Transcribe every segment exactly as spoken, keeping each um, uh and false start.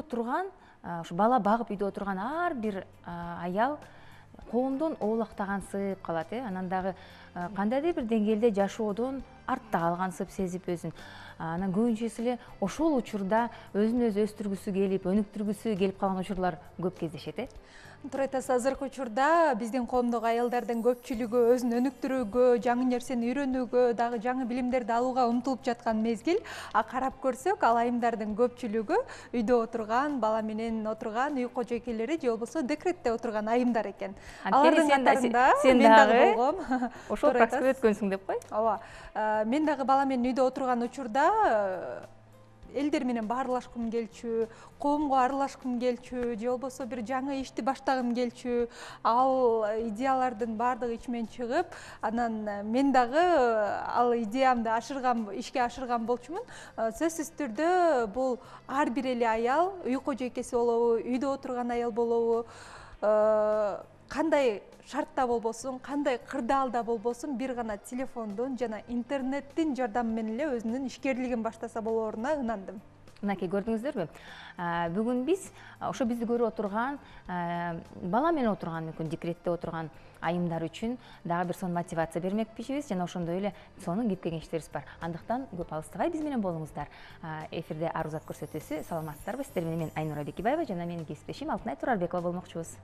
отурган, ушу бала багып үйдө отурган ар бир аял коомдон оолактагансып калат, э анан дагы кандайдыр бир деңгээлде жашоодон артта калгансып сезип өзүн. Анан көбүнчөсү эле ошол учурда өзүн өзү өстүргүсү келип, өнүктүргүсү келип калган учурлар көп кездешет, э. Туура айтасыз, азыркы учурда биздин коомдогу аялдардын көпчүлүгү өзүн өнүктүрүүгө, жаңы нерсени үйрөнүүгө, дагы жаңы билимдерди алууга умтулуп жаткан мезгил. А карап көрсөк, ал айымдардын көпчүлүгү үйдө отурган, бала менен отурган үй кожойкелери же болбосо декретте отурган айымдар экен. Алардын катарында мен дагы болгом. Ошол практикада өткөнсүң деп кой. Ооба. Мен дагы бала менен үйдө отурган учурда элдер менен баарлашкым келчү, коомго аралашкым келчү, же болбосо бир жаңы ишти баштагым келчү. Ал идеялардын баардыгы ичимен чыгып, анан мен дагы ал идеямды ашырган, ишке ашырган болчумун. Сөзсүз түрдө бул ар бир эле аял үй кожойкеси болобу, үйдө отурган аял болобу, кандай шартта болбосун, кандай кырдаалда болбосун, бир гана телефондун жана интернеттин жардамы менен эле өзүнүн ишкерлигин баштаса болооруна ынандым. Мынакей, көрдүңүздөрбү? Бүгүн биз ошо бизди көрүп отурган, бала менен отурган, мүмкүн декретте отурган айымдар үчүн дагы бир сонун мотивация бермекчибиз, жана ошондой эле сонун кеп кеңештерибиз бар. Андыктан көп алыстабай биз менен болуңуздар. Эфирде Арузат көрсөтүүсү, саламатсыздарбы? Сиздер менен мен Айнура Бекибаева жана менин кесиптешим Алтынай Турарбекова болмокчубуз.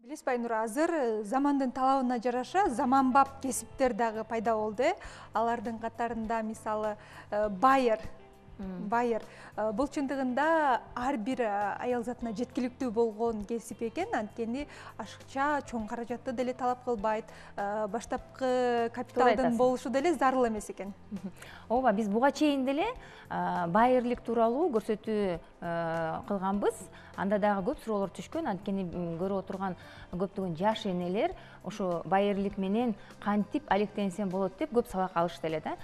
Билесизби, Айнура, азыр замандын талабына жараша заманбап кесиптер дагы пайда болду. Алардын катарында мисалы байыр. Байыр. Бул чындыгында ар бир аял затына жеткиликтүү болгон кесип экен, анткени ашыкча, чоң каражатты деле талап кылбайт, баштапкы капиталдын болушу деле зарыл эмес экен. Ооба, биз буга чейин деле байырлык тууралуу көрсөтүү кылганбыз. Анда дагы көп суроолор түшкөн, анткени көрүп отурган көптөгөн жаш энелер ошо байырлык менен кантип алектенсем болот деп көп сабак алышты эле да.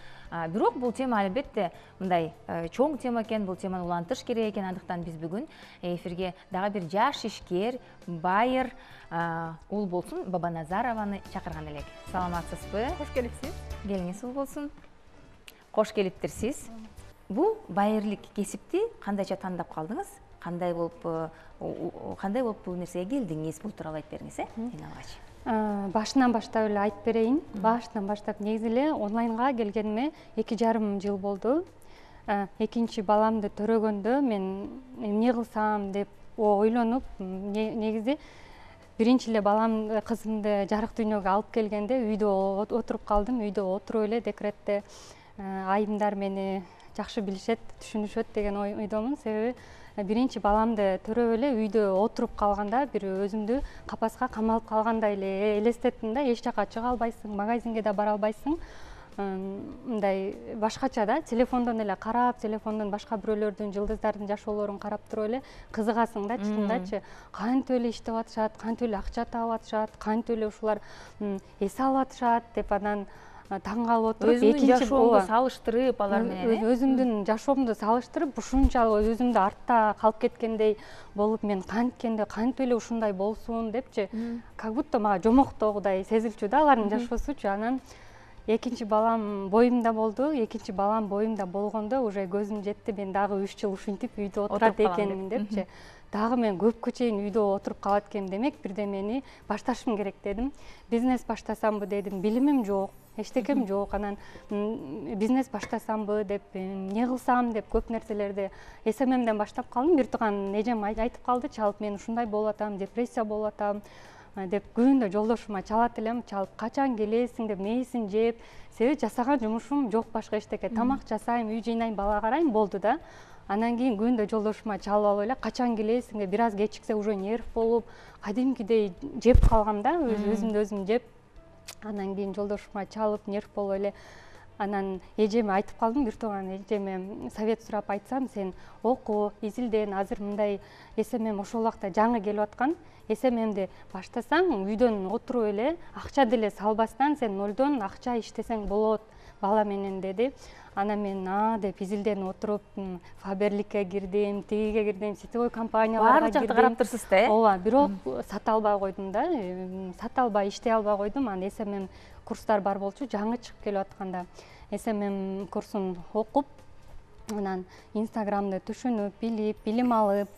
Бирок бул тема албетте мындай чоң тема экен, бул теманы улантыш керек экен. Андыктан биз бүгүн эфирге дагы бир жаш ишкер, байыр ул болсун Бабаназарованы чакырган элек. Саламатсызбы? Кош келипсиз. Келиңиз ул болсун. Кош келиптирсиз. Бул байырлык кесипти кандайча тандап калдыңыз? Кандай болуп, кандай болуп бул нерсеге келдиңиз? Бул тууралуу айтып бериңиз, э? Эң алгач. Башынан баштап эле айтып берейин. Башынан баштап негизи эле онлайнга келгениме эки жарым жыл болду. Экинчи баламды төрөгөндө мен эмне кылсам деп ойлонуп, негизи биринчи эле балам, кызымды жарык дүйнөгө алып келгенде үйдө отуруп калдым. Үйдө отуруп эле декретте айымдар мени жакшы билишет, түшүнүшөт деген ойдомун. Себеби биринчи баламды төрөп эле үйдө отуруп калганда бир өзүмдү капаска камалып калгандай эле элестеттим да. Эч жака чыга албайсың, магазинге да бара албайсың. Мындай башкача да, телефондон эле карап, телефондон башка бирөөлөрдүн, жылдыздардын жашоолорун карап туруп эле кызыгасың да, чынындачы. Кантип эле иштеп атышат, кантип эле акча таап атышат, кантип эле ушулар эс алып атышат деп анан таң калып отуруп, экинчи жашоомду салыштырып алар менен, өзүмдүн жашоомду салыштырып, ушунчалык өзүмдү артта калып кеткендей болуп, мен канткенде кантип эле ушундай болсун депчи, как будто мага жомоктогудай сезилчү да алардын жашоосучу. Анан экинчи балам боюмда болду. Экинчи балам боюмда болгондо уже көзүм жетти, мен дагы үч жыл ушинтип үйдө отурат экенмин депчи. Дагы мен көпкө чейин үйдө отуруп калат экенмин, демек бирдемени башташым керек дедим. Бизнес баштасамбы дедим, билимим жок, эчтекем жок. Анан бизнес баштасамбы деп, эмне кылсам деп көп нерселерди эс эм эмден баштап калдым. Бир тууган эжем айтып калды, чалып, мен ушундай болуп атам, депрессия болуп атам деп күндө жолдошума чалат элем, чалып качан келесиң деп, мээсин жеп, себеби жасаган жумушум жок башка эчтеке. Тамак жасайм, үй жыйнайм, бала карайм, болду да. Анан кийин күндө жолдошума чалып алып эле, качан келесиң деп, бир аз кечиксе уже нерв болуп, кадимкидей жеп калгам да, өзүмдү өзүм жеп. Анан кийин жолдошума чалып, нерв болуп эле Анан эжеме айтып калдым, бир тууган эжеме совет сурап айтсам, сен оку, изилден, азыр мындай эс эм эм ошол убакта жаңы келип аткан. эс эм эмди баштасаң, үйдөн отуруп эле, акча деле салбастан сен нолдон акча иштесең болот бала менен деди. Анан мен а деп изилден отуруп, Фаберликке кирдим, тигиге кирдим, сетевой компанияларга кирдим. Баары жакта карап турсуз да, э? Ооба, бирок сата албай койдум да, сата албай иштей албай койдум. Анан эс эм эм курстар бар болчу, жаңы чыгып келип атканда эс эм эм курсун окуп, анан Инстаграмды түшүнүп, билип, билим алып,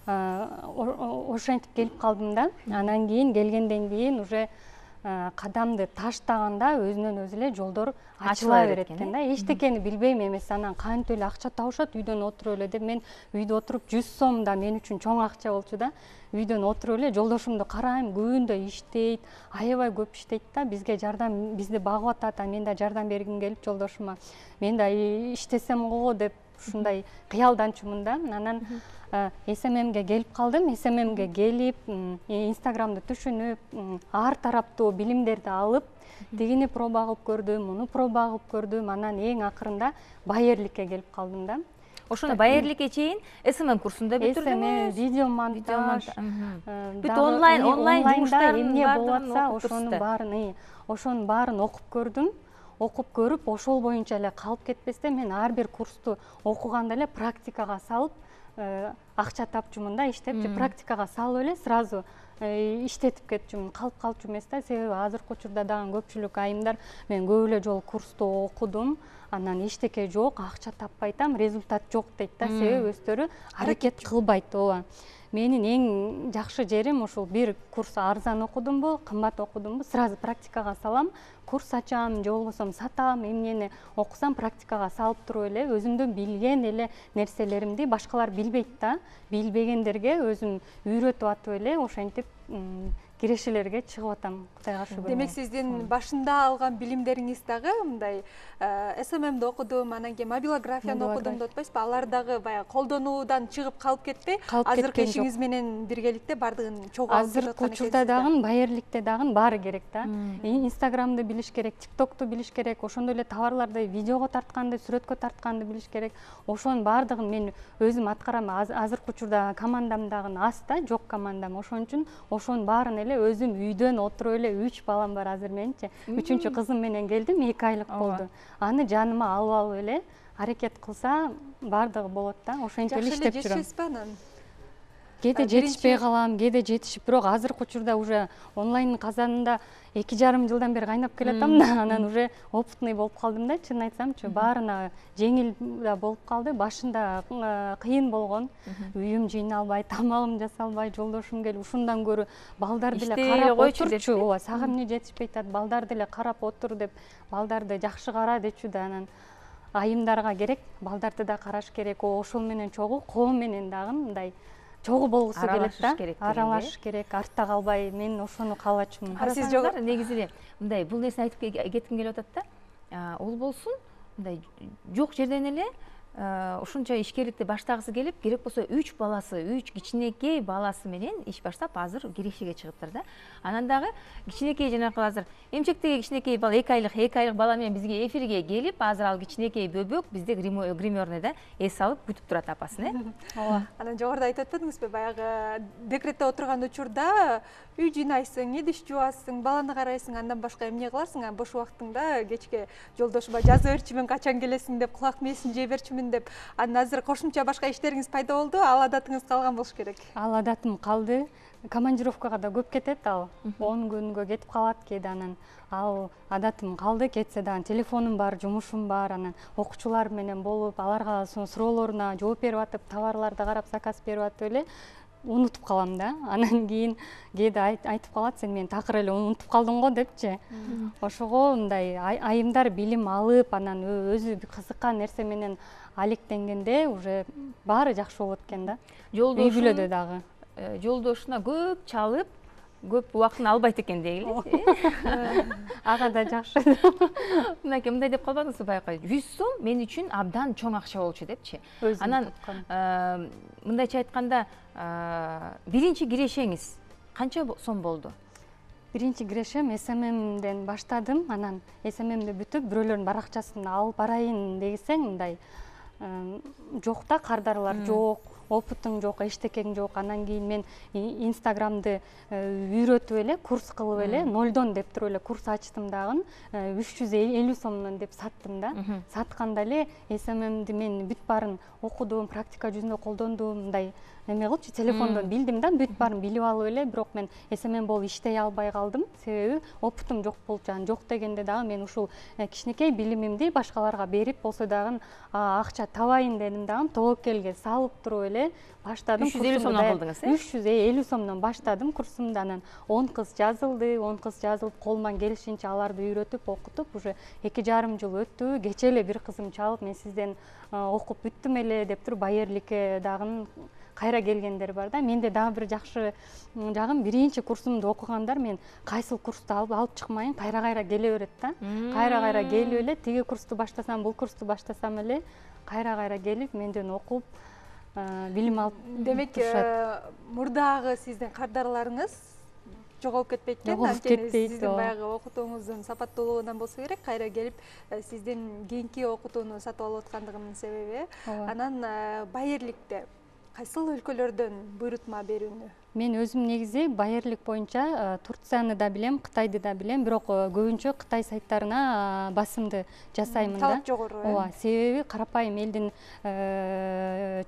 ошентип келип калдым да. Анан кийин келгенден кийин уже кадамды таштаганда өзүнөн өзү эле жолдор ачыла берет экен да. Эчтекени билбейм эмес, анан кантип эле акча табышат үйдөн отуруп эле деп. Мен үйдө отуруп жүз сом да мен үчүн чоң акча болчу да. Үйдөн отуруп эле жолдошумду карайм, күндө иштейт, аябай көп иштейт да. Бизге жардам, бизди багып атат, мен да жардам бергим келип жолдошума. Мен да иштесем го деп ушундай кыялданчумун да. Анан эс эм эмге келип калдым. эс эм эмге келип, Инстаграмды түшүнүп, ар тараптуу билимдерди алып, тигини проба кылып көрдүм, муну проба кылып көрдүм. Анан эң акырында Байерликке келип калдым да. Ошондо Байерликке чейин эс эм эм курсунда бүтүрдүңүз. Видео монтаж, бүт онлайн, онлайн жумуштар эмне болуп атса, ошонун баарын, ошонун баарын окуп көрдүм. Окуп көрүп, ошол боюнча эле калып кетпестен мен ар бир курсту окуганда эле практикага салып, акча тапчумун да, иштеп, практикага салып эле сразу иштетип кетчүмүн. Калып калчу эмес да, себеби азыркы учурда дагы көпчүлүк айымдар мен көп эле жолу курсту окудум, анан эчтеке жок, акча таппай атам, результат жок дейт да, себеби өздөрү аракет кылбайт. Ооба. Менин эң жакшы жерим ушул бир курс арзан окудумбу, кымбат окудумбу, сразу практикага салам, курс ачам же болбосо сатам, эмнени окусам практикага салып туруп эле өзүмдүн билген эле нерселеримди башкалар билбейт да, билбегендерге өзүм үйрөтүп атып эле ошентип кирешелерге чыгып атам, Кудайга шүгүр. Демек сиздин башында алган билимдериңиз дагы мындай эс эм эмди окудум, анан кийин мобилографияны окудум деп атпайсызбы? Алар дагы баягы колдонуудан чыгып калып кетпей, азыркы ишиңиз менен биргеликте бардыгын чогуу алып келип аткан экенсиз. Азыркы учурда дагы Байерликте дагы баары керек да. Инстаграмды билиш керек, ТикТокту билиш керек, ошондой эле товарларды видеого тартканды, сүрөткө тартканды билиш керек. Ошонун баардыгын мен өзүм аткарам. Азыркы учурда командам дагы аз да, жок командам. Ошон үчүн ошонун баарын эле өзүм үйдөн отуруп эле, үч балам бар азыр менчи. Үчүнчү кызым менен келдим, эки айлык болду. Аны жаныма алып алып эле аракет кылса баардыгы болот да. Ошентип эле иштеп жүрөм. Жешесизби анан? Кээде жетишпей калам, кээде жетишип, бирок азыркы учурда уже онлайн казанында эки жарым жылдан бери кайнап келатам да, анан уже опытный болуп калдым да, чынын айтсамчы. Баарына жеңил да болуп калды. Башында кыйын болгон. Үйүм жыйналбай, тамагым жасалбай, жолдошум келип ушундан көрү балдарды эле карап отурчу. Ооба, сага эмне жетишпей атат, балдарды эле карап отур деп, балдарды жакшы кара дечү да. Анан айымдарга керек, балдарды да караш керек. Ошол менен чогуу коом менен дагы мындай чогуу болгусу келет да, аралашыш керек, артта калбай, мен ошону каалачумун. Сиз жок негизи эле мындай бул нерсени айтып кетким келип атат да. Ол болсун, мындай жок жерден эле ушунча ишкерликти баштагысы келип, керек болсо үч баласы, үч кичинекей баласы менен иш баштап, азыр кирешеге чыгыптыр да. Анан дагы кичинекей жанакы азыр эмчектеги кичинекей бала, эки айлык, эки айлык бала менен бизге эфирге келип, азыр ал кичинекей бөбөк бизде гримерныйда эс алып күтүп турат апасын, э? Ооба. Анан жогоруда айтып атпадыңызбы, баягы декретте отурган учурда үй жыйнайсың, идиш жуасың, баланы карайсың, андан башка эмне кыласың? Бош убактыңда кечке жолдошума жазып берчүмүн, качан келесиң деп, кулак мээсин жей берчүмүн деп. Анан азыр кошумча башка иштериңиз пайда болду, ал адатыңыз калган болуш керек. Ал адатым калды. Командировкага да көп кетет ал. он күнгө кетип калат кээде, анан ал адатым калды. Кетсе дагы телефонум бар, жумушум бар, анан окуучулар менен болуп, аларга суроолоруна жооп берип атып, товарларды карап, заказ берип атып эле унутуп калам да. Анан кийин кээде айтып калат, сен мени такыр эле унутуп калдың го депчи. Ошого мындай айымдар билим алып, анан өзү кызыккан нерсе менен алектенгенде уже баары жакшы болот экен да. Үй бүлөдө дагы жолдошуна көп чалып, көп убактын албайт экен дейли. Ага да жакшы. Мынакей мындай деп калбадыңызбы баягы жүз сом мен үчүн абдан чоң акча болчу депчи. Анан мындайча айтканда биринчи кирешеңиз канча сом болду? биринчи кирешем эс эм эмден баштадым, анан эс эм эмди бүтүп бирөөлөрдүн баракчасын алып барайын десең мындай жок да, кардарлар жок, опытың жок, эчтекең жок. Анан кийин мен инстаграмды үйрөтүп эле, курс кылып эле, нолдон деп туруп эле курс ачтым дагы, үч жүз элүү сомдон деп саттым да. Сатканда эле эс эм эмди мен бүт баарын окудум, практика жүзүндө колдондум, мындай эме кылчу, телефондон билдим да, бүт баарын билип алып эле, бирок мен эс эм эм болуп иштей албай калдым, себеби опытым жок болчу. Анан жок дегенде дагы мен ушул кичинекей билимимди башкаларга берип болсо дагы акча табайын дедим дагы, тобокелге салып туруп эле баштадым. үч жүз элүү сомдон кылдыңыз, э? үч жүз элүү сомдон баштадым курсумду. Анан он кыз жазылды, он кыз жазылып, колуман келишинче аларды үйрөтүп, окутуп, уже эки жарым жыл өттү. Кечээ эле бир кызым чалып, мен сизден окуп бүттүм эле деп туруп, Байырликке дагы кайра келгендер бар да. Менде дагы бир жакшы жагым, биринчи курсумду окугандар мен кайсыл курсту алып алып чыкмайын, кайра-кайра келе берет да. Кайра-кайра келип эле, тиги курсту баштасам, бул курсту баштасам эле кайра-кайра келип, менден окуп, билим алып. Демек, мурдагы сиздин кардарларыңыз жоголуп кетпейт экен. Жоголуп кетпейт. Сиздин баягы окутууңуздун сапаттуулугунан болсо керек, кайра келип сиздин кийинки окутууну сатып алып аткандыгынын себеби. Анан Байырликте кайсыл өлкөлөрдөн буйрутма берүүнү? Мен өзүм негизи Байырлик боюнча Турцияны да билем, Кытайды да билем, бирок көбүнчө Кытай сайттарына басымды жасайм да. Талап жогору, э? Ооба, себеби карапайым элдин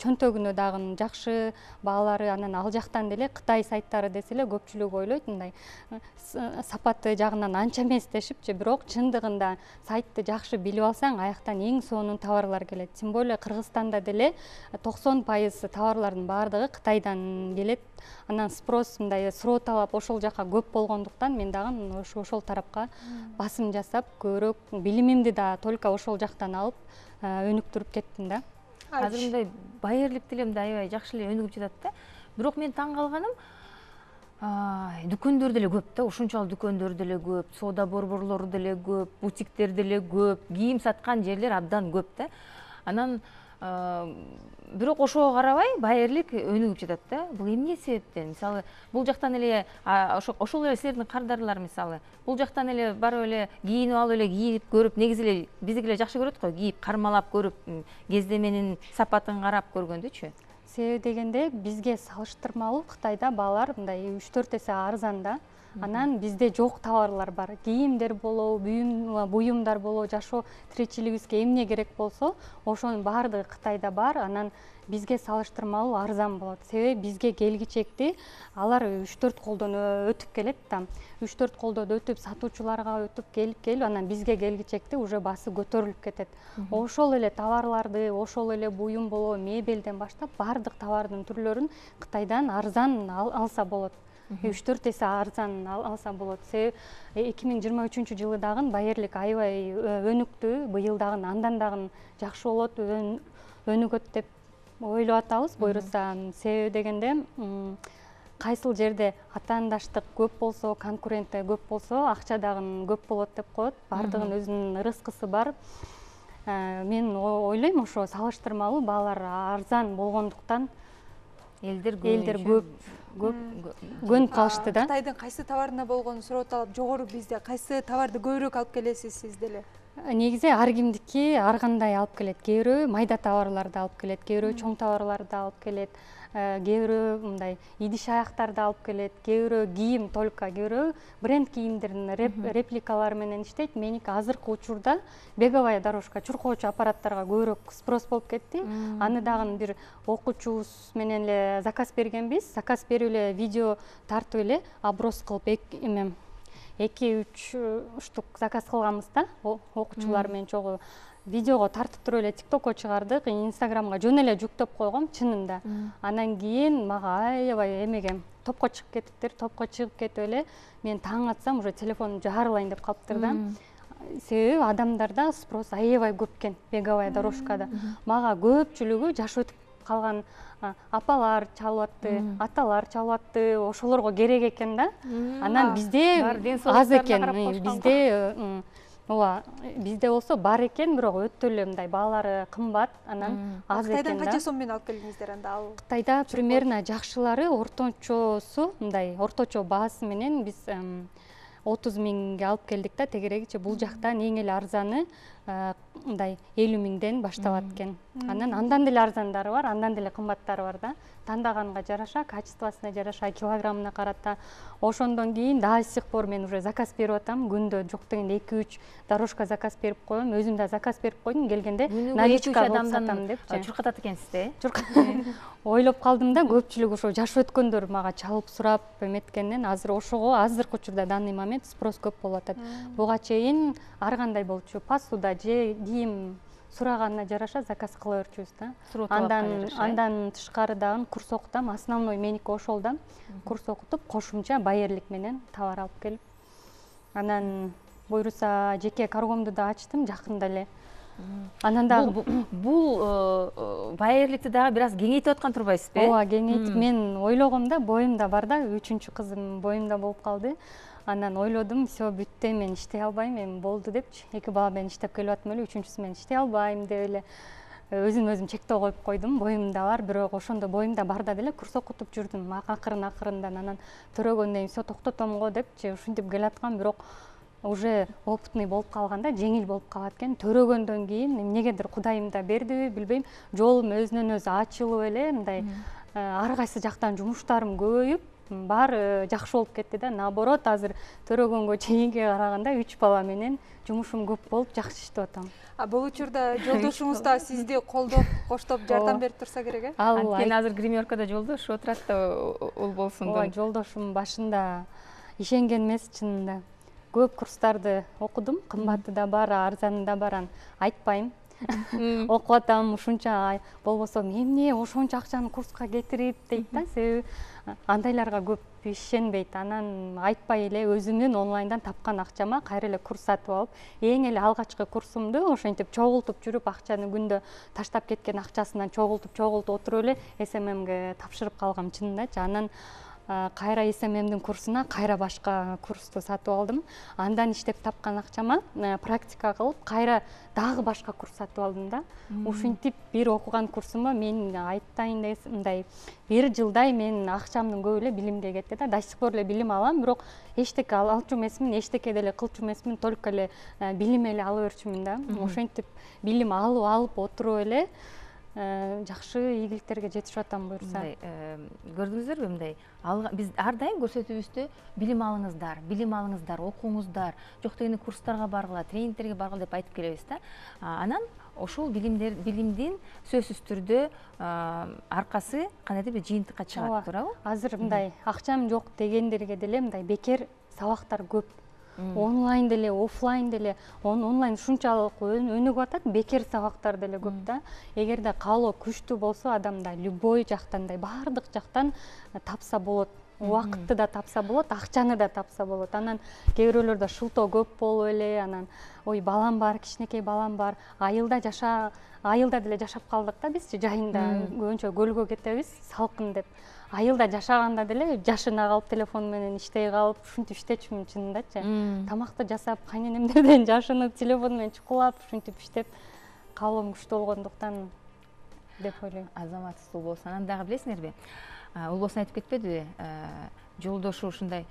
чөнтөгүнө дагы жакшы баалары, анан ал жактан деле Кытай сайттары десе эле көпчүлүк ойлойт мындай сапаты жагынан анча эмес дешипчи, бирок чындыгында сайтты жакшы билип алсаң, аяктан эң сонун товарлар келет. Тем более Кыргызстанда деле токсон пайыз товарлардын баардыгы Кытайдан келет. Анан спрос, мындай суроо талап ошол жака көп болгондуктан мен дагы ошол тарапка басым жасап, көбүрөөк билимимди да только ошол жактан алып өнүктүрүп кеттим да. Азыр мындай Байырлик деле аябай жакшы эле өнүгүп жатат да. Бирок мен таң калганым, дүкөндөр деле көп да, ушунчалык дүкөндөр деле көп, соода борборлору деле көп, бутиктер деле көп, кийим саткан жерлер абдан көп да. Анан бирок ошого карабай Байырлик өнүгүп жатат да. Бул эмне себептен? Мисалы, бул жактан эле ошол эле силердин кардарлар, мисалы, бул жактан эле барып эле кийинип алып эле кийип көрүп, негизи эле биздики эле жакшы көрөт го, кийип кармалап көрүп, кездеменин сапатын карап көргөндүчү. Себеби дегенде бизге салыштырмалуу Кытайда баалар мындай үч төрт эсе арзан да. Анан бизде жок товарлар бар. Кийимдер болобу, буюмдар болобу, жашоо тиричилигибизге эмне керек болсо, ошонун баардыгы Кытайда бар. Анан бизге салыштырмалуу арзан болот. Себеби бизге келгичекти алар үч төрт колдон өтүп келет да. үч төрт колдон өтүп, сатуучуларга өтүп келип келип, анан бизге келгичекти уже басы көтөрүлүп кетет. Ошол эле товарларды, ошол эле буюм болобу, мебелден баштап баардык товардын түрлөрүн Кытайдан арзан алса болот. үч төрт эсе арзан алса болот. Себеби эки миң жыйырма үчүнчү жылы дагы Байырлик аябай өнүктү, быйыл дагы андан дагы жакшы болот, өнүгөт деп ойлоп атабыз буйруса. Себеби дегенде кайсыл жерде атаандаштык көп болсо, конкуренция көп болсо, акча дагы көп болот деп коет. Баардыгынын өзүнүн рызкысы бар. Мен ойлойм, ошо салыштырмалуу баалар арзан болгондуктан элдер көп көп көнүп калышты да. Кытайдын кайсы товарына болгон суроо талап жогору, бизде кайсы товарды көбүрөөк алып келесиз сиз деле? Негизи ар кимдики ар кандай алып келет. Кээ бирөө майда товарларды алып келет, кээ бирөө чоң товарларды алып келет, кээ бирөө мындай идиш аяктарды алып келет, кээ бирөө кийим только, кээ бирөө бренд кийимдердин репликалары менен иштейт. Меники азыркы учурда беговая дорожка, чуркоочу аппараттарга көбүрөөк спрос болуп кетти. Аны дагы бир окуучубуз менен эле заказ бергенбиз. Заказ берип эле видео тартып эле оброс кылып эме эки үч штук заказ кылганбыз да, окуучулар менен чогуу. Видеого тартып туруп эле тиктокко чыгардык, инстаграмга жөн эле жүктөп койгом чынында. Анан кийин мага аябай эмегем топко чыгып кетиптир, топко чыгып кетип эле мен таң атсам уже телефонум жарылайын деп калыптыр да. Себеби адамдарда спрос аябай көп экен беговая дорожкада. Мага көпчүлүгү жаш өтүп калган апалар чалып атты, аталар чалып атты, ошолорго керек экен да. Анан бизде аз экен, бизде ооба, бизде болсо бар экен, бирок өтө эле мындай баалары кымбат, анан аз экен да. Кытайдан канча сом менен алып келдиңиздер анда? Ал Кытайда примерно жакшылары орточосу, мындай орточо баасы менен биз отуз миңге алып келдик да, тегерегичи бул жактан эң эле арзаны мындай элүү миңден башталат экен. Анан андан деле арзандары бар, андан деле кымбаттары бар да. Тандаганга жараша, качествосуна жараша, килограммына карата. Ошондон кийин дагы сих пор мен уже заказ берип атам. Күндө жок дегенде эки үч дорожка заказ берип коем. Өзүм да заказ берип койдум. Келгенде наличка кылып сатам депчи. Чуркатат экенсиз да, э? Ойлоп калдым да, көпчүлүк ошо жаш өткөндөр мага чалып сурап эметкенден азыр ошого азыркы учурда данный момент спрос көп болуп атат. Буга чейин ар кандай болчу, посуда же кийим сураганына жараша заказ кыла берчүбүз да. Андан андан тышкары дагы курс окутам. Основной меники ошол да. Курс окутуп, кошумча байерлик менен товар алып келип. Анан буюрса жеке каргомду да ачтым жакында эле. Анан дагы бул байерликти дагы бир аз кеңейтип аткан турбайсызбы? Ооба, кеңейтип. Мен ойлогом да, боюмда бар да, үчүнчү кызым боюмда болуп калды. Анан ойлодум, все бүттү, мен иштей албайм, эми болду депчи. Эки бала менен иштеп келип атам эле, үчүнчүсү менен иштей албайм деп эле өзүм өзүм чектөө коюп койдум. Боюмда бар, бирок ошондо боюмда барда деле курс окутуп жүрдүм. Акырын акырындан анан төрөгөндөн кийин все токтотом го депчи, ушинтип келаткам, бирок уже опытный болуп калганда жеңил болуп калат экен. Төрөгөндөн кийин эмнегедир Кудайым да бердиби, билбейм, жолум өзүнөн өзү ачылып эле, мындай ар кайсы жактан жумуштарым көбөйүп, баары жакшы болуп кетти да. Наоборот, азыр төрөгөнгө чейинге караганда үч бала менен жумушум көп болуп, жакшы иштеп атам. А бул учурда жолдошуңуз да сизди колдоп, коштоп, жардам берип турса керек э? Анткени азыр гримеркада жолдошуп отурат да, ул болсун. Ооба, жолдошум башында ишенген эмес чынында. Көп курстарды окудум, кымбаты да бар, арзаны да бар, айтпайм. Окуп атам, ушунча болбосо эмне ошончо акчаны курска кетирип дейт да, себеби андайларга көп ишенбейт. Анан айтпай эле өзүмдүн онлайндан тапкан акчама кайра эле курс сатып алып, эң эле алгачкы курсумду ошентип чогултуп жүрүп, акчаны күндө таштап кеткен акчасынан чогултуп чогултуп отуруп эле эс эм эмге тапшырып калгам чынындачы. Анан кайра эс эм эмдин курсуна кайра башка курсту сатып алдым. Андан иштеп тапкан акчама практика кылып, кайра дагы башка курс сатып алдым да. Ушинтип бир окуган курсума мен айтайын десем, мындай бир жылдай мен акчамдын көбү эле билимге кетти да. До сих пор эле билим алам, бирок эчтеке алчу эмесмин, эчтеке деле кылчу эмесмин, только эле билим эле ала берчүмүн да. Ошентип билим алып алып отуруп эле жакшы ийгиликтерге жетишип атам буюрса. Көрдүңүздөрбү мындай? Биз ар дайым көрсөтүүбүздө билим алыңыздар, билим алыңыздар, окуңуздар, жок дегенде курстарга баргыла, тренингтерге баргыла деп айтып келебиз да. Анан ошол билимдер, билимдин сөзсүз түрдө аркасы кандайдыр бир жыйынтыкка чыгат, туурабы? Азыр мындай акчам жок дегендерге деле мындай бекер сабактар көп. Онлайн деле, офлайн деле, онлайн ушунчалык өнүгүп атат, бекер сабактар деле көп да. Эгерде каалоо күчтүү болсо, адамда любой жактан, баардык жактан тапса болот. Убакытты да тапса болот, акчаны да тапса болот. Анан кээ бирөөлөрдө шылтоо көп болуп эле, анан ой балам бар, кичинекей балам бар, айылда жаша, айылда деле жашап калдык да бизчи, жайында көбүнчө көлгө кетебиз, салкын деп. Айылда жашаганда деле жашына калып, телефон менен иштей калып, ушинтип иштечүмүн чынындачы. Тамакты жасап, кайненемдерден жашынып, телефон менен чукулап, ушинтип иштеп, каалоом күчтүү болгондуктан деп ойлойм. Азаматсыз Улболсун. Анан дагы билесиңерби? Улболсун айтып кетпедиби? Жолдошу ушундай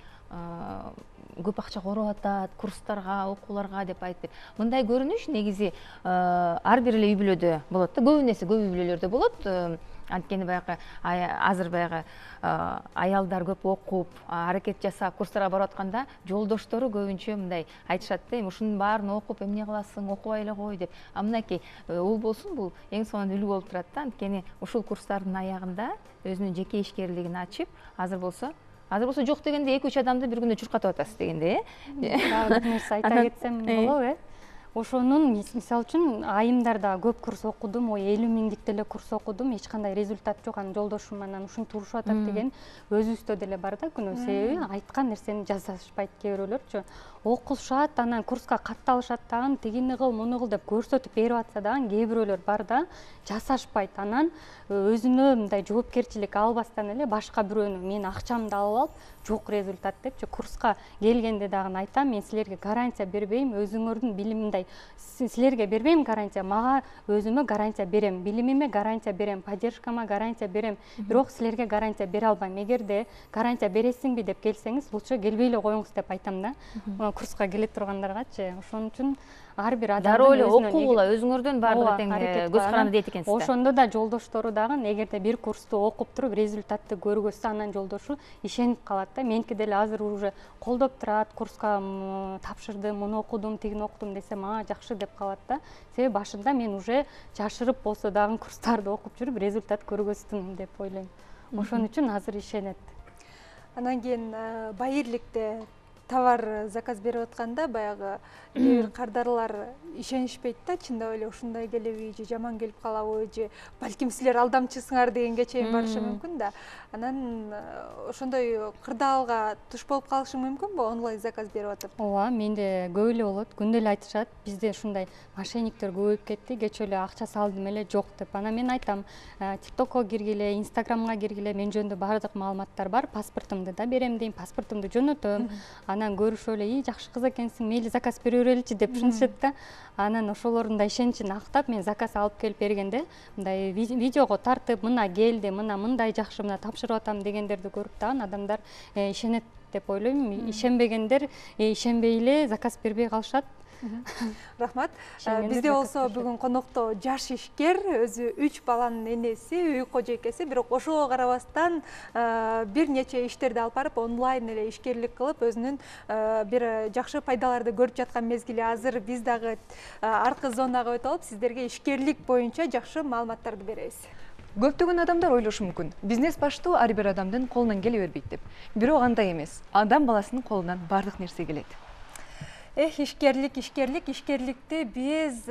көп акча короп атат, курстарга, окууларга деп айтты. Мындай көрүнүш негизи ар бир эле үй бүлөдө болот да, көбүнесе көп үй бүлөлөрдө болот. Анткени баягы азыр баягы аялдар көп окуп, аракет жасап, курстарга барып атканда, жолдоштору көбүнчө мындай айтышат да, ушунун баарын окуп, эмне кыласың, окубай эле кой деп. А мынакей Улболсун бул эң сонун үлгү болуп турат да, анткени ушул курстардын аягында өзүнүн жеке ишкерлигин ачып, азыр болсо Азыр болсо жок дегенде эки үч адамды бир күндө чуркатып атасыз дегенде, э? Дагы бир нерсе айта кетсем болобу, э? Ошонун мисалы үчүн айымдарда көп курс окудум, ой элүү миңдик деле курс окудум, эч кандай результат жок, анан жолдошум анан ушинтип урушуп атат деген өзүбүздө деле бар да күнөө. Себеби айткан нерсени жасашпайт кээ бирөөлөрчү. Окушат, анан курска катталышат дагы, тигини кыл, муну кыл деп көрсөтүп берип атса дагы кээ бирөөлөр бар да, жасашпайт. Анан өзүнө мындай жоопкерчилик албастан эле башка бирөөнү мен акчамды алып алып, жок результат депчи курска келгенде дагы айтам, мен силерге гарантия бербейм, өзүңөрдүн билиминдей силерге бербейм гарантия, мага өзүмө гарантия берем. Билимим эмеме гарантия берем, поддержкама гарантия берем, бирок силерге гарантия бере албайм. Эгерде гарантия бересиңби деп келсеңиз, лучше келбей эле коюңуз деп айтам да. Курска келе тургандаргачы. Ошон үчүн ар бир адамдын дароо эле окугула өзүңөрдөн баардыгы тең көз каранды дейт экенсиз. Ошондо да жолдоштору дагы эгерде бир курсту окуп туруп результатты көргөзсө, анан жолдошу ишенип калат да. Меники деле азыр уже колдоп турат, курска тапшырдым, муну окудум, тигини окудум десем, а жакшы деп калат да. Себеби башында мен уже жашырып болсо дагы курстарды окуп жүрүп результат көргөздүм деп ойлойм. Ошон үчүн азыр ишенет. Анан кийин байырликте товар заказ берип атканда баягы бир кардарлар ишенишпейт да, чындап эле ушундай келеби же жаман келип калабы же балким силер алдамчысыңар дегенге чейин барышы мүмкүн да. Анан ошондой кырдаалга туш болуп калышы мүмкүнбү онлайн заказ берип атып? Ооба, менде көп эле болот. Күндө эле айтышат, бизде ушундай мошенниктер көбөйүп кетти, кечээ эле акча салдым эле жок деп. Анан мен айтам, TikTokко киргиле, Instagramга киргиле, мен жөнүндө баардык маалыматтар бар, паспортумду да берем дейм, паспортумду жөнөтөм. Анан көрүшүп эле, "И, жакшы кыз экенсиң, мейли заказ бере береличи" деп түшүнүшөт да. Анан ошолордун да ишеничин актап, мен заказ алып келип бергенде, мындай видеого тартып, "Мына келди, мына мындай жакшы, мына тапшырып атам" дегендерди көрүп дагы адамдар ишенет деп ойлойм. Ишенбегендер ишенбей эле заказ бербей калышат. Рахмат. Бизде болсо бүгүн конокто жаш ишкер, өзү үч баланын энеси, үй кожойкеси, бирок ошого карабастан бир нече иштерди алып барып онлайн эле ишкерлик кылып, өзүнүн бир жакшы пайдаларды көрүп жаткан мезгили. Азыр биз дагы аркы зонага өтүп алып, сиздерге ишкерлик боюнча жакшы маалыматтарды беребиз. Көптөгөн адамдар ойлошу мүмкүн, бизнес баштоо ар бир адамдын колунан келе бербейт деп. Бирок андай эмес. Адам баласынын колунан бардык нерсе келет. Эх, ишкерлик, ишкерлик, ишкерликти биз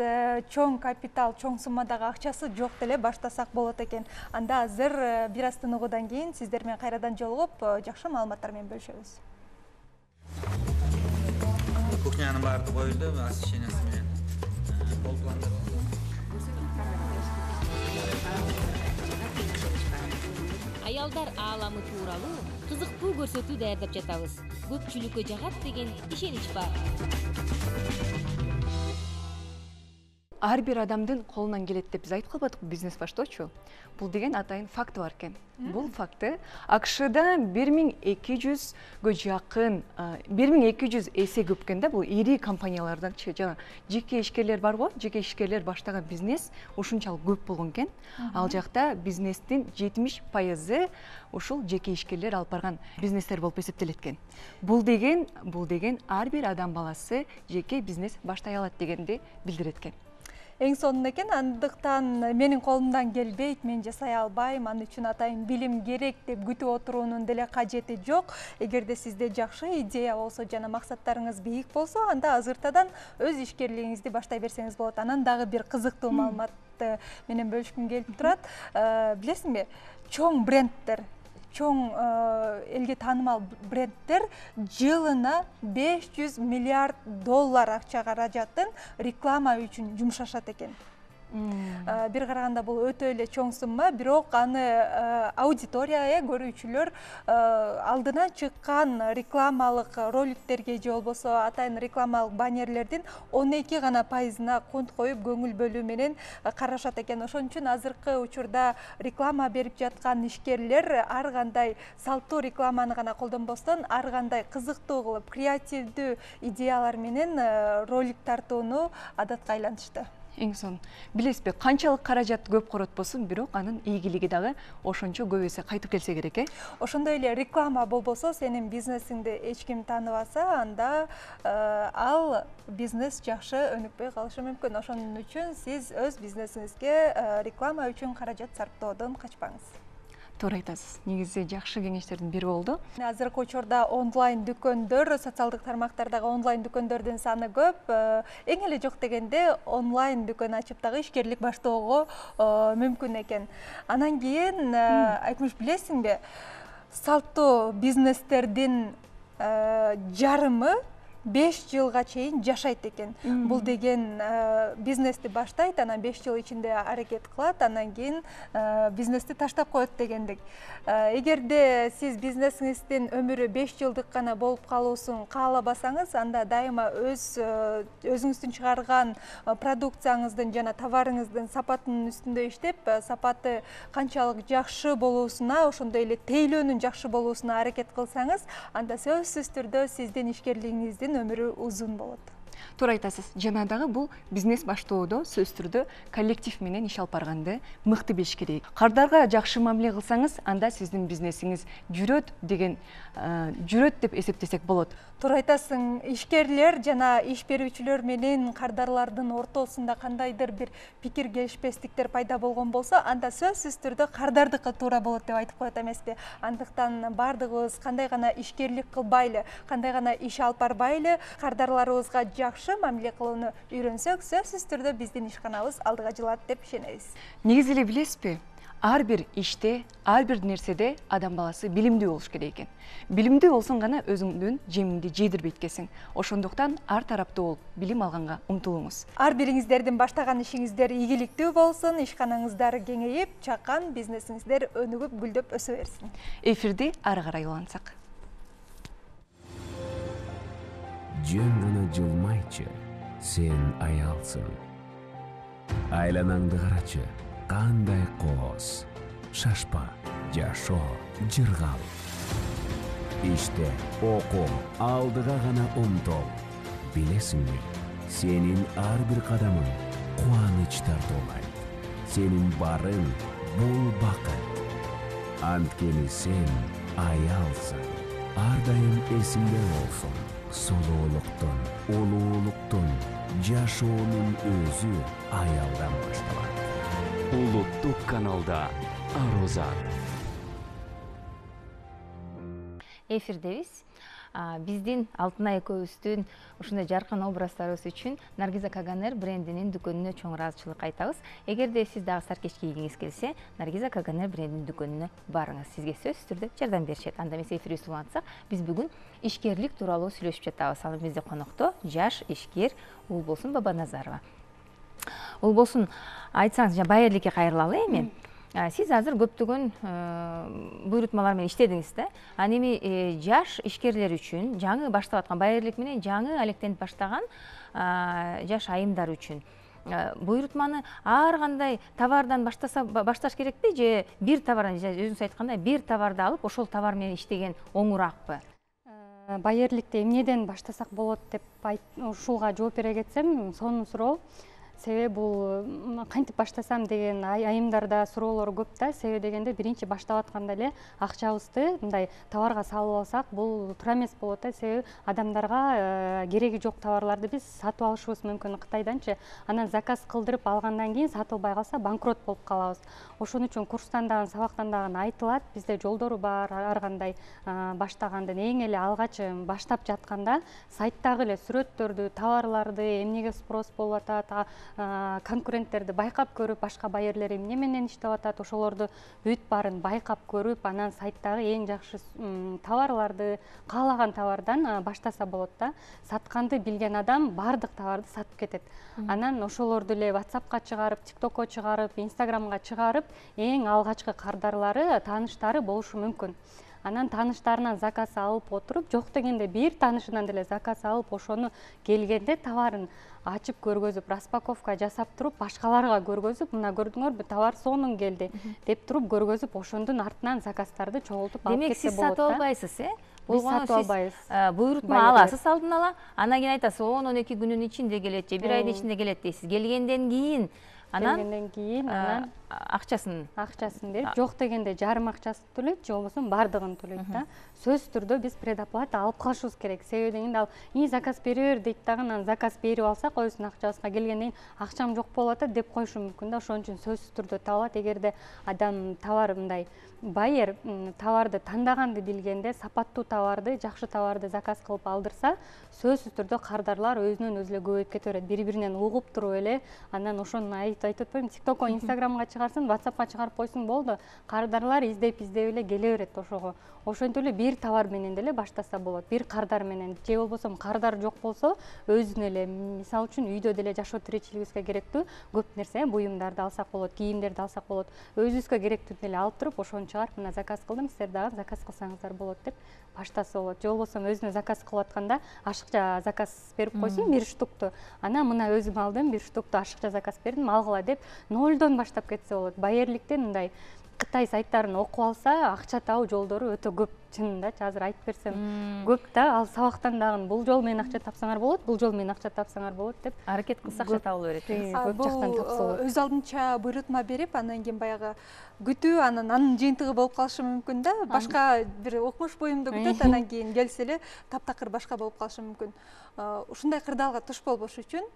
чоң капитал, чоң суммадагы акчасы жок деле баштасак болот экен. Анда азыр бир аз тыныгуудан кийин сиздер менен кайрадан жолугуп, жакшы маалыматтар менен бөлүшөбүз. Кухнянын баардыгы коюлду, освещениясы менен болуп. Аялдар ааламы тууралуу кызыктуу көрсөтүү даярдап жатабыз. Көпчүлүккө жагат деген ишенич бар. Ар бир адамдын колунан келет деп биз айтып калбадыкпы бизнес баштоочу? Бул деген атайын факт бар экен. Бул факты АКШда бир миң эки жүзгө жакын, бир миң эки жүз эсе көп экен да, бул ири компанияларданчы, жана жеке ишкерлер бар го, жеке ишкерлер баштаган бизнес ушунчалык көп болгон экен. Ал жакта бизнестин жетимиш пайызы ушул жеке ишкерлер алып барган бизнестер болуп эсептелет экен. Бул деген, бул деген ар бир адам баласы жеке бизнес баштай алат дегенди билдирет экен. Эң сонун экен, андыктан менин колумдан келбейт, мен жасай албайм, аны үчүн атайын билим керек деп күтүп отуруунун деле кажети жок. Эгерде сизде жакшы идея болсо жана максаттарыңыз бийик болсо, анда азыртадан өз ишкерлигиңизди баштай берсеңиз болот. Анан дагы бир кызыктуу маалыматты менен бөлүшкүм келип турат. Билесиңби, чоң брендтер, чоң элге таанымал брендтер жылына беш жүз миллиард доллар акча каражатын реклама үчүн жумшашат экен. Бир караганда бул өтө эле чоң сумма, бирок аны аудитория, көрүүчүлөр алдынан чыккан рекламалык роликтерге же болбосо атайын рекламалык баннерлердин он эки гана пайызына конт коюп көңүл бөлүү менен карашат экен. Ошон үчүн азыркы учурда реклама берип жаткан ишкерлер ар кандай салттуу рекламаны гана колдонбостон, ар кандай кызыктуу кылып, креативдүү идеялар менен ролик тартууну адатка айлантышты. Эң сон. Билесизби, канчалык каражат көп коротпосун, бирок анын ийгилиги дагы ошончо көп эсе кайтып келсе керек э? Ошондой эле реклама болбосо, сенин бизнесиңди эч ким тааныбаса, анда ал бизнес жакшы өнүкпөй калышы мүмкүн. Ошон үчүн сиз өз бизнесиңизге реклама үчүн каражат сарптоодон качпаңыз. Туура айтасыз. Негизи жакшы кеңештердин бири болду. Азыркы учурда онлайн дүкөндөр, социалдык тармактардагы онлайн дүкөндөрдүн саны көп. Эң эле жок дегенде онлайн дүкөн ачып дагы ишкерлик баштоого мүмкүн экен. Анан кийин Айкмыш, билесиңби, салттуу бизнестердин жарымы беш жылга чейин жашайт экен. Бул деген бизнести баштайт, анан беш жыл ичинде аракет кылат, анан кийин бизнести таштап коет дегендик. Эгерде сиз бизнесиңиздин өмүрү беш жылдык гана болуп калуусун каалабасаңыз, анда дайыма өз өзүңүздүн чыгарган продукцияңыздын жана товарыңыздын сапатынын үстүндө иштеп, сапаты канчалык жакшы болуусуна, ошондой эле тейлөөнүн жакшы болуусуна аракет кылсаңыз, анда сөзсүз түрдө сиздин ишкерлигиңиздин өмүрү узун болот. Туура айтасыз. Жана дагы бул бизнес баштоодо сөзсүз түрдө коллектив менен иш алып барганды мыкты билиш керек. Кардарга жакшы мамиле кылсаңыз, анда сиздин бизнесиңиз жүрөт деген жүрөт деп эсептесек болот. Туура айтасың. Ишкерлер жана иш берүүчүлөр менен кардарлардын ортосунда кандайдыр бир пикир келишпестиктер пайда болгон болсо, анда сөзсүз түрдө кардардыкы туура болот деп айтып коет эмеспи? Андыктан бардыгыбыз кандай гана ишкерлик кылбайлы, кандай гана иш алып барбайлы, кардарларыбызга жакшы мамиле кылууну үйрөнсөк, сөзсүз түрдө биздин ишканабыз алдыга жылат деп ишенебиз. Негизи эле билесизби? Ар бир иште, ар бир нерседе адам баласы билимдүү болуш керек экен. Билимдүү болсоң гана өзүңдүн жемиңди жейдирбейт экенсиң. Ошондуктан ар тараптуу болуп, билим алганга умтулуңуз. Ар бириңиздердин баштаган ишиңиздер ийгиликтүү болсун, ишканаңыздар кеңейип, чакан бизнесиңиздер өнүгүп, гүлдөп өсө берсин. Эфирди ары карай улантсак. Жөн гана жылмайчы, сен аялсың. Айланаңды карачы, кандай коос. Шашпа, жашоо, жыргал. Иште, окуу, алдыга гана умтул. Билесиңби, сенин ар бир кадамың кубаныч тартуулайт. Сенин барың бул бакыт. Анткени сен аялсың. Ар дайым эсиңде болсун. Солоолуктун, улуулуктун, жашоонун өзү аялдан башталат. Улуттук каналда Арозат. Эфирдебиз. Биздин Алтынай экөөбүздүн ушундай жаркын образдарыбыз үчүн Наргиза Каганер брендинин дүкөнүнө чоң ыраазычылык айтабыз. Эгерде сиз дагы саркеч кийгиңиз келсе, Наргиза Каганер брендинин дүкөнүнө барыңыз. Сизге сөзсүз түрдө жардам беришет. Анда эмес эфирибизди улантсак, биз бүгүн ишкерлик тууралуу сүйлөшүп жатабыз. Ал бизде конокто жаш ишкер Улболсун Бабаназарова. Улболсун, айтсаңыз, жана Байерликке кайрылалы эми. Сиз азыр көптөгөн буйрутмалар менен иштедиңиз да. Ал эми жаш ишкерлер үчүн, жаңы баштап аткан Байерлик менен жаңы алектенип баштаган жаш айымдар үчүн буйрутманы ар кандай товардан баштаса башташ керекпи, же бир товардан, өзүңүз айткандай, бир товарды алып, ошол товар менен иштеген оңураакпы? Байерликте эмнеден баштасак болот деп ушулга жооп бере кетсем, сонун суроо. Себеби бул кантип баштасам деген айымдарда суроолор көп да. Себеби дегенде биринчи баштап атканда эле акчабызды мындай товарга салып алсак, бул туура эмес болот да. Себеби адамдарга кереги жок товарларды биз сатып алышыбыз мүмкүн Кытайданчы. Анан заказ кылдырып алгандан кийин сатылбай калса банкрот болуп калабыз. Ошон үчүн курстан дагы, сабактан дагы айтылат. Бизде жолдору бар, ар кандай баштагандын. Эң эле алгач баштап жатканда сайттагы эле сүрөттөрдү, товарларды, эмнеге спрос болуп атат, конкуренттерди байкап көрүп, башка байерлер эмне менен иштеп атат, ошолорду бүт баарын байкап көрүп, анан сайттагы эң жакшы товарларды, каалаган товардан баштаса болот да. Сатканды билген адам баардык товарды сатып кетет. Анан ошолорду эле WhatsAppка чыгарып, TikTokко чыгарып, Instagramга чыгарып, эң алгачкы кардарлары, тааныштары болушу мүмкүн. Анан тааныштарынан заказ алып отуруп, жок дегенде бир таанышынан деле заказ алып, ошону келгенде товарын ачып көргөзүп, распаковка жасап туруп, башкаларга көргөзүп, мына көрдүңөрбү, товар сонун келди деп туруп көргөзүп, ошондун артынан заказдарды чогултуп алып кетсе болот да. Демек, сиз сатып албайсыз, э? Биз сатып албайбыз. Буйрутма аласыз алдын ала, анан кийин айтасыз, он он эки күнүн ичинде келет же бир айдын ичинде келет дейсиз. Келгенден кийин анан келгенден кийин анан акчасын акчасын берип, жок дегенде жарым акчасын төлөйт, же болбосо бардыгын төлөйт да. Сөзсүз түрдө биз предоплата алып калышыбыз керек. Себеби дегенде ал "И заказ бере бер" дейт дагы, анан заказ берип алсак, өзүнүн акчабызга келгенден кийин акчам жок болуп атат деп коюшу мүмкүн да. Ошон үчүн сөзсүз түрдө табылат. Эгерде адам товар мындай байер товарды тандаганды билгенде, сапаттуу товарды, жакшы товарды заказ кылып алдырса, сөзсүз түрдө кардарлар өзүнөн өзү эле көбөйүп кете берет. Бири-биринен угуп туруп эле, анан ошону айтып атпаймынбы, TikTokко, Instagramга чыгарсын, WhatsAppка чыгарып койсуң болду. Кардарлар издеп издеп эле келе берет ошого. Ошентип эле бир товар менен деле баштаса болот. Бир кардар менен же болбосо кардар жок болсо, өзүнө эле мисалы үчүн үйдө деле жашоо тиричилигибизге керектүү көп нерсе, буюмдарды алсак болот, кийимдерди алсак болот. Өзүбүзгө керектүүнү эле алып туруп, ошону чыгарып, мына заказ кылдым, силер дагы заказ кылсаңыздар болот деп баштаса болот. Же болбосо өзүнө заказ кылып атканда ашыкча заказ берип койсун бир штукту. Анан мына өзүм алдым, бир штукту ашыкча заказ бердим, алгыла деп нолдон баштап кетсе болот. Байерликтен мындай Кытай сайттарын окуп алса, акча табуу жолдору өтө көп. Чынындачы азыр айтып берсем көп да, ал сабактан дагы бул жол менен акча тапсаңар болот, бул жол менен акча тапсаңар болот деп аракет кылса акча табыла берет. Көп жактан тапса болот. Өз алдынча буйрутма берип, анан кийин баягы күтүү, анан анын жыйынтыгы болуп калышы мүмкүн да. Башка бир окумуш буюмду күтөт, анан кийин келсе эле таптакыр башка болуп калышы мүмкүн. Ушундай кырдаалга туш болбош үчүн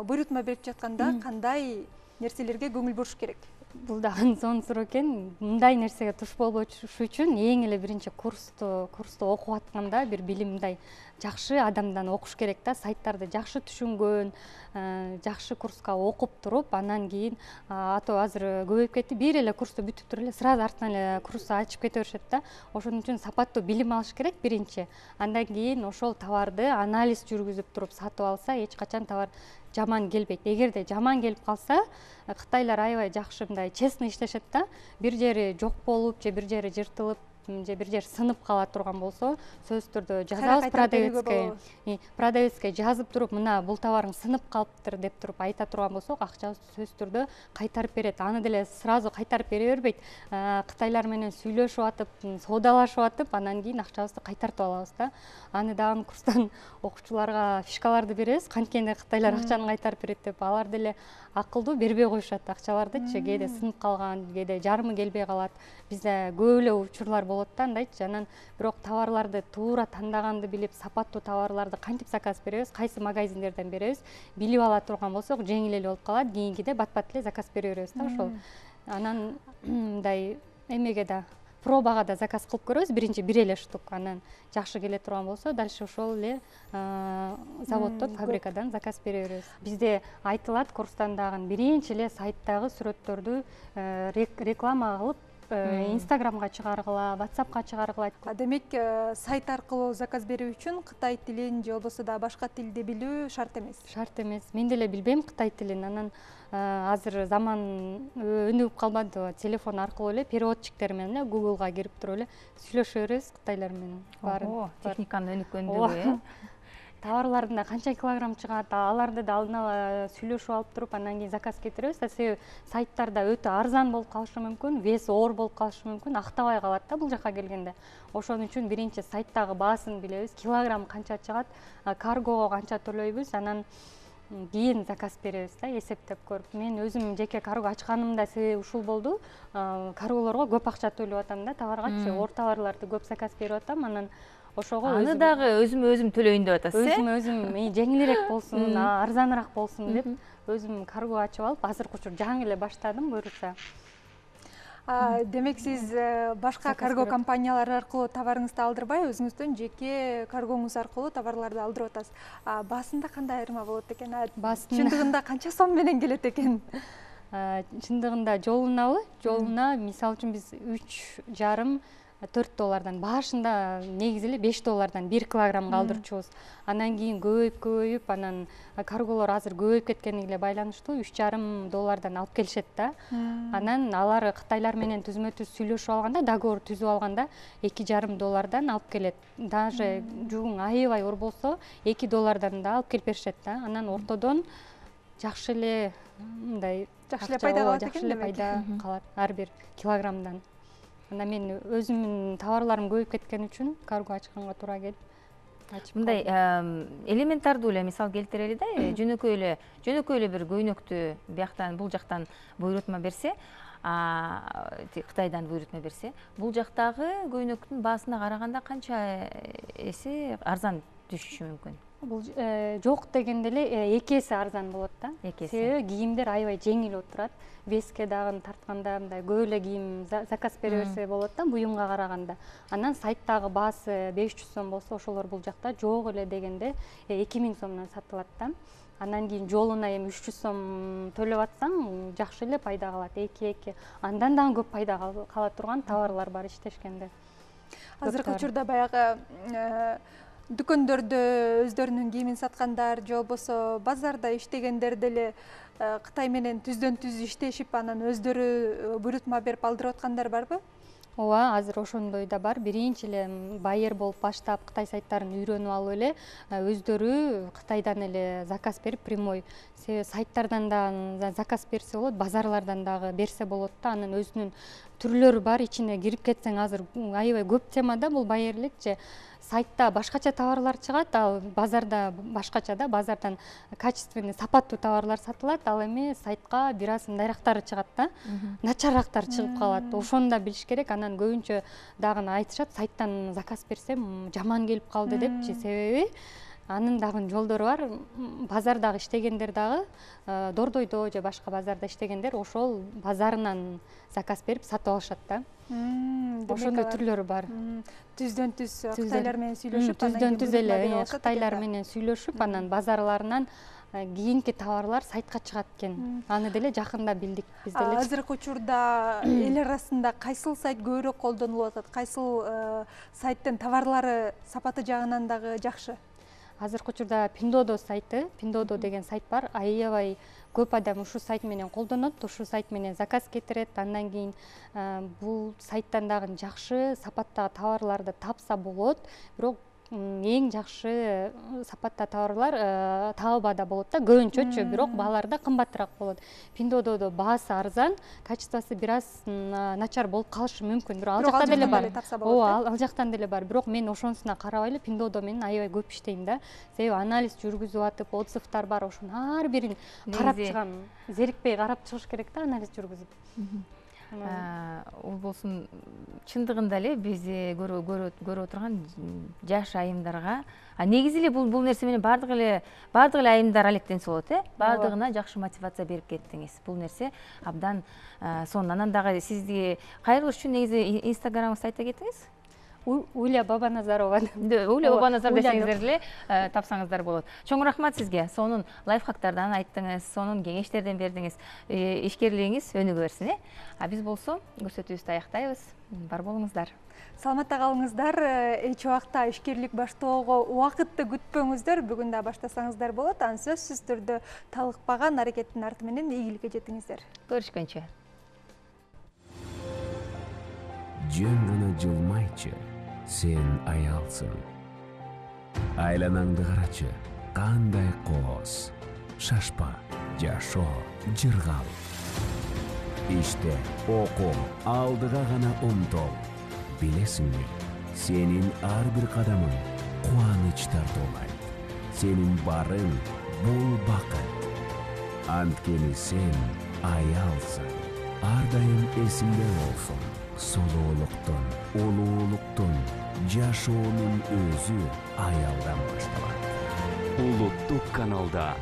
буйрутма берип жатканда кандай нерселерге көңүл буруш керек? Бул дагы сонун суроо экен. Мындай нерсеге туш болбош үчүн эң эле биринчи курсту курсту окуп атканда бир билим мындай жакшы адамдан окуш керек да, сайттарды жакшы түшүнгөн, жакшы курска окуп туруп, анан кийин ато азыр көбөйүп кетти. Бир эле курсту бүтүп туруп эле сразу артынан эле курсту ачып кете беришет да. Ошон үчүн сапаттуу билим алыш керек биринчи. Андан кийин ошол товарды анализ жүргүзүп туруп сатып алса, эч качан товар жаман келбейт. Эгерде жаман келип калса, кытайлар аябай жакшы мындай честный иштешет да. Бир жери жок болуп, же бир жери жыртылып, же бир жер сынып кала турган болсо, сөзсүз түрдө жазабыз продавецке. Продавецке жазып туруп, мына бул товарың сынып калыптыр деп туруп айта турган болсок, акчабызды сөзсүз түрдө кайтарып берет. Аны деле сразу кайтарып бере бербейт. Кытайлар менен сүйлөшүп атып, соодалашып атып, анан кийин акчабызды кайтартып алабыз да. Аны дагы курстан окуучуларга фишкаларды беребиз. Канткенде кытайлар акчаны кайтарып берет деп, алар деле акылдуу бербей коюшат акчалардычы. Кээде сынып калган, кээде жарымы келбей калат. Бизде көп эле учурлар болот да андайчы. Анан бирок товарларды туура тандаганды билип, сапаттуу товарларды кантип заказ беребиз, кайсы магазиндерден беребиз, билип ала турган болсок, жеңил эле болуп калат. Кийинкиде бат-бат эле заказ бере беребиз да ошол. Анан мындай эмеге да пробага да заказ кылып көрөбүз. Биринчи бир эле штук, анан жакшы келе турган болсо, дальше ошол эле заводдон, фабрикадан заказ бере беребиз. Бизде айтылат курстан дагы биринчи эле сайттагы сүрөттөрдү реклама кылып, Инстаграмга чыгаргыла, WhatsAppка чыгаргыла. Демек, сайт аркылуу заказ берүү үчүн кытай тилин же болбосо да башка тилди билүү шарт эмес. Шарт эмес. Мен деле билбейм кытай тилин. Анан азыр заман өнүгүп калбады. Телефон аркылуу эле переводчиктер менен Google'га кирип туруп эле сүйлөшө беребиз кытайлар менен. Ого, техниканын өнүккөндүгү, э? Товарларында канча килограмм чыгат, аларды да алдын ала сүйлөшүп алып туруп, анан кийин заказ кетиребиз. Себеби сайттарда өтө арзан болуп калышы мүмкүн, вес оор болуп калышы мүмкүн, актабай калат да бул жака келгенде. Ошон үчүн биринчи сайттагы баасын билебиз, килограмм канча чыгат, каргого канча төлөйбүз, анан кийин заказ беребиз да, эсептеп көрүп. Мен өзүм жеке карго ачканымда себеби ушул болду. Карголорго көп акча төлөп атам да, товаргачы, оор товарларды көп заказ берип атам, анан ошого аны дагы өзүм өзүм төлөйүн деп атасыз, э? Өзүм өзүм жеңилирээк болсун, арзаныраак болсун деп өзүм карго ачып алып, азыркы учур жаңы эле баштадым, буюрса. Демек, сиз башка карго компаниялары аркылуу товарыңызды алдырбай, өзүңүздүн жеке каргоңуз аркылуу товарларды алдырып атасыз. Баасында кандай айырма болот экен? Чындыгында канча сом менен келет экен? Чындыгында жолунабы? Жолуна, мисалы үчүн биз үч жарым төрт доллардан, башында негизи эле беш доллардан бир килограммга алдырчубуз. Анан кийин көбөйүп көбөйүп, анан карголор азыр көбөйүп кеткениге байланыштуу үч жарым доллардан алып келишет да. Анан алар кытайлар менен түзмө-түз сүйлөшүп алганда, договор түзүп алганда эки жарым доллардан алып келет. Даже жугуң аябай оор болсо, эки доллардан да алып келип беришет да. Анан ортодон жакшы эле мындай жакшы эле пайда калат экен, жакшы эле пайда калат ар бир килограммдан. Анда мен өзүмдүн товарларым көбөйүп кеткен үчүн карго ачканга туура келип ачып. Мындай элементардуу эле мисал келтирели да, жөнөкөй эле, жөнөкөй эле бир көйнөктү бияктан, бул жактан буйрутма берсе, Кытайдан буйрутма берсе, бул жактагы көйнөктүн баасына караганда канча эсе арзан түшүшү мүмкүн? Бул жок дегенде эле эки эсе арзан болот да. Эки эсе. Себеби кийимдер аябай жеңил отурат. Веске дагы тартканда мындай көп эле кийим заказ бере берсе болот да, буюмга караганда. Анан сайттагы баасы беш жүз сом болсо, ошолор бул жакта жок эле дегенде эки миң сомдон сатылат да. Андан кийин жолуна эми үч жүз сом төлөп атсаң, жакшы эле пайда калат, эки-эки. Андан дагы көп пайда кала турган товарлар бар иштешкенде. Азыркы учурда баягы дүкөндөрдө өздөрүнүн кийимин саткандар же болбосо базарда иштегендер деле Кытай менен түздөн түз иштешип, анан өздөрү буйрутма берип алдырып аткандар барбы? Ооба, азыр ошондой да бар. Биринчи эле байер болуп баштап Кытай сайттарын үйрөнүп алып эле өздөрү Кытайдан эле заказ берип, прямой. Себеби сайттардан да заказ берсе болот, базарлардан дагы берсе болот да. Анын өзүнүн түрлөрү бар, ичине кирип кетсең азыр аябай көп темада бул байерликчи. Сайтта башкача товарлар чыгат, ал базарда башкача да, базардан качественный, сапаттуу товарлар сатылат, ал эми сайтка бир аз мындайрактары чыгат да, начаррактар чыгып калат. Ошону да билиш керек. Анан көбүнчө дагы айтышат, сайттан заказ берсем жаман келип калды депчи. Себеби анын дагы жолдору бар. Базардагы иштегендер дагы, Дордойдо же башка базарда иштегендер ошол базарынан заказ берип сатып алышат да. Ошондой түрлөрү бар. Түздөн түз Кытайлар менен сүйлөшүп, түздөн түз эле Кытайлар менен сүйлөшүп, анан базарларынан кийинки товарлар сайтка чыгат экен. Аны деле жакында билдик биз деле. Азыркы учурда эл арасында кайсыл сайт көбүрөөк колдонулуп атат? Кайсыл сайттын товарлары сапаты жагынан дагы жакшы? Азыркы учурда Pinduoduo сайты, Pinduoduo деген сайт бар. Аябай көп адам ушул сайт менен колдонот, ушул сайт менен заказ кетирет. Андан кийин бул сайттан дагы жакшы сапаттагы товарларды тапса болот. Бирок эң жакшы сапатта товарлар Taobao'da болот да, көбүнчөчү, бирок баалары да кымбатыраак болот. Pinduoduo'да баасы арзан, качествосы бир аз начар болуп калышы мүмкүн. Бирок ал жакта деле бар. Ооба, ал жактан деле бар. Бирок мен ошонусуна карабай эле Pinduoduo менен аябай көп иштейм да. Себеби анализ жүргүзүп атып, отзывдар бар, ошонун ар бирин карап чыгам. Зерикпей карап чыгыш керек да, анализ жүргүзүп. Ол болсун чындыгында эле биз көрүп отурган жаш айымдарга, негизи эле бул бул нерсе менен баардык эле баардык эле айымдар алектенсе болот, э? Баардыгына жакшы мотивация берип кеттиңиз. Бул нерсе абдан сонун. Анан дагы сизди кайрылыш үчүн негизи Инстаграмыңызды айта кетиңиз. Уля Бабаназарова. Уля Бабаназар десеңиздер эле тапсаңыздар болот. Чоң рахмат сизге. Сонун лайфхактардан айттыңыз, сонун кеңештерден бердиңиз. Ишкерлигиңиз өнүгө берсин, э? А биз болсо көрсөтүүбүздү аяктайбыз. Бар болуңуздар. Саламатта калыңыздар. Эч убакта ишкерлик баштоого убакытты күтпөңүздөр. Бүгүн да баштасаңыздар болот. Аны сөзсүз түрдө талыкпаган аракеттин арты менен ийгиликке жетиңиздер. Көрүшкөнчө. Жөн гана жылмайчы, сен аялсың. Айланаңды карачы, кандай коос. Шашпа, жашоо, жыргал. Иште окуу, алдыга гана умтол. Билесиңби, сенин ар бир кадамың кубаныч тартуулайт. Сенин барың бул бакыт. Анткени сен аялсың. Ар дайым эсиңде болсун. Солоолуктун, улуулуктун, жашоонун өзү аялдан башталат. Улуттук каналда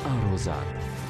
Арозат.